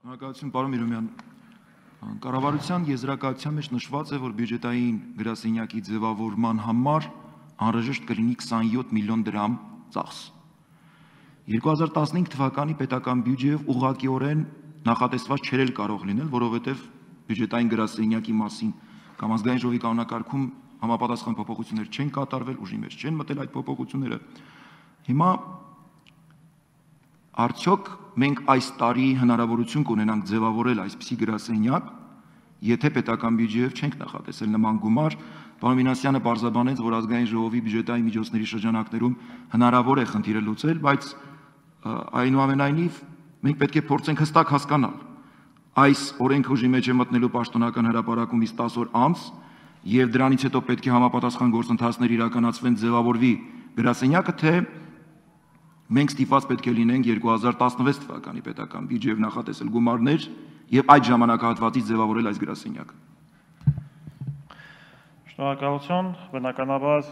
Շնորհակալություն, պարոն Միրումյան։ Կառավարության եզրակացության մեջ նշված է, որ բյուջետային գրասենյակի ձևավորման համար անհրաժեշտ կլինի 27 միլիոն դրամ ծախս։ 2015 թվականի պետական բյուջեով ուղղակիորեն նախատեսված չէր կարող լինել, որովհետև բյուջետային գրասենյակի մասին կամ ազգային ժողովի կանոնակարգում համապատասխան փոփոխություններ չեն կատարվել, ուժի մեջ չեն մտել այդ փոփոխությունները։ Հիմա արդյոք մենք այս տարի հնարավորություն կունենանք ձևավորել այսպիսի գրասենյակ, եթե պետական բյուջեով չենք նախատեսել նման գումար։ Պարոն Մինասյանը պարզաբանեց, որ ազգային ժողովի բյուջետային միջոցների շրջանակներում հնարավոր է խնդիրը լուծել, բայց այնուամենայնիվ մենք պետք է փորձենք հստակ հասկանալ այս օրենքը ուժի մեջ է մտնելու պաշտոնական հրապարակումից 10 օր անց եւ դրանից հետո պետք է համապատասխան գործընթացներ իրականացվեն, ձևավորվի գրասենյակը, թե մենք ստիպված պետք է լինենք 2016 թվականի պետական բյուջեով նախատեսել գումարներ եւ այդ ժամանակահատվածից ձևավորել այս գրասենյակը։ Շնորհակալություն, բնականաբար,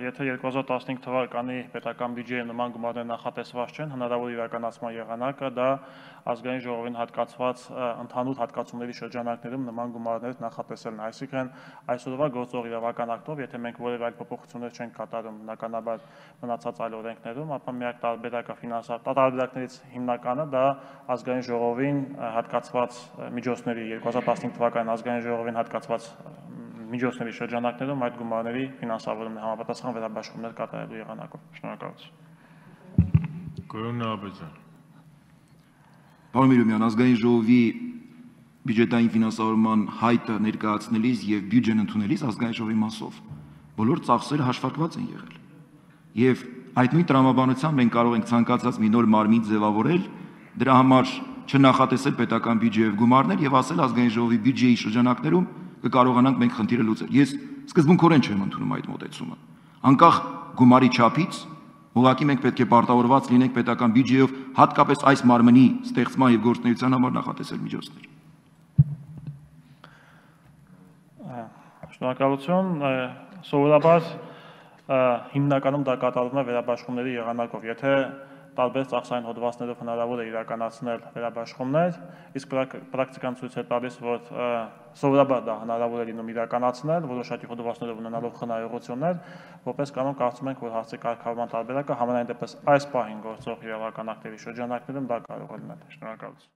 եթե 2015 թվականի պետական բյուջեի նման գումարներ նախատեսված չեն, հնարավոր իրականացման եղանակը դա ազգային ժողովին հատկացված ընդհանուր հատկացումների շրջանակներում նման գումարներ նախատեսելն է, այսինքն այսօրվա գործող իրավական ակտով, եթե մենք որևէ այլ փոփոխություններ չենք կատարում բնականաբար մնացած այլ օրենքներում, ապա միակ տարբերակը տարբերակներից հիմնականը դա ազգային ժողովին հատկացված միջոցների 2015 թվականի ազգային ժողովին հատկացված միջոցների շրջանակներում այդ գումարների ֆինանսավորումն է համապատասխան վերաբաշխումներ կատարելու եղանակով։ Շնորհակալություն։ Պարոն Միրումյան, ազգային ժողովի բյուջետային ֆինանսավորման հայտը ներկայացնելիս եւ բյուջեն ընդունելիս ազգային ժողովի մասով բոլոր ծախսերը հաշվարկված են եղել։ Եվ այդ նույն տրամաբանությամբ մենք կարող ենք ցանկացած մի նոր մարմին ձևավորել, դրա համար չնախատեսել պետական բյուջեով գումարներ եւ ասել ազգային ժողովի բյուջեի շրջանակներում կկարողանանք մենք խնդիրը լուծել։ Ես սկզբունքորեն չեմ ընդունում այդ մոտեցումը։ Անկախ գումարի չափից, ուղղակի մենք պետք է պարտավորված լինենք պետական բյուջեով հատկապես այս մարմնի ստեղծման եւ գործունեության համար նախատեսել միջոցներ։ Շնորհակալություն, սովորաբար հիմնականում դա կատարվում է վերաբաշխումների եղանակով, եթե տարբեր ծախսային հոդվածներով հնարավոր է իրականացնել վերաբաշխումներ, իսկ պրակտիկան ցույց է տալիս, որ սովորաբար դա հնարավոր է լինում իրականացնել, որոշակի հոդվածներով ունենալով խնայողություններ, որպես կանոն կարծում ենք, որ հարցի կարգավորման տարբերակը համենայն դեպս այս պահին գործող իրավական ակտերի շրջանակներում դա կարող է լինել։ Շնորհակալություն։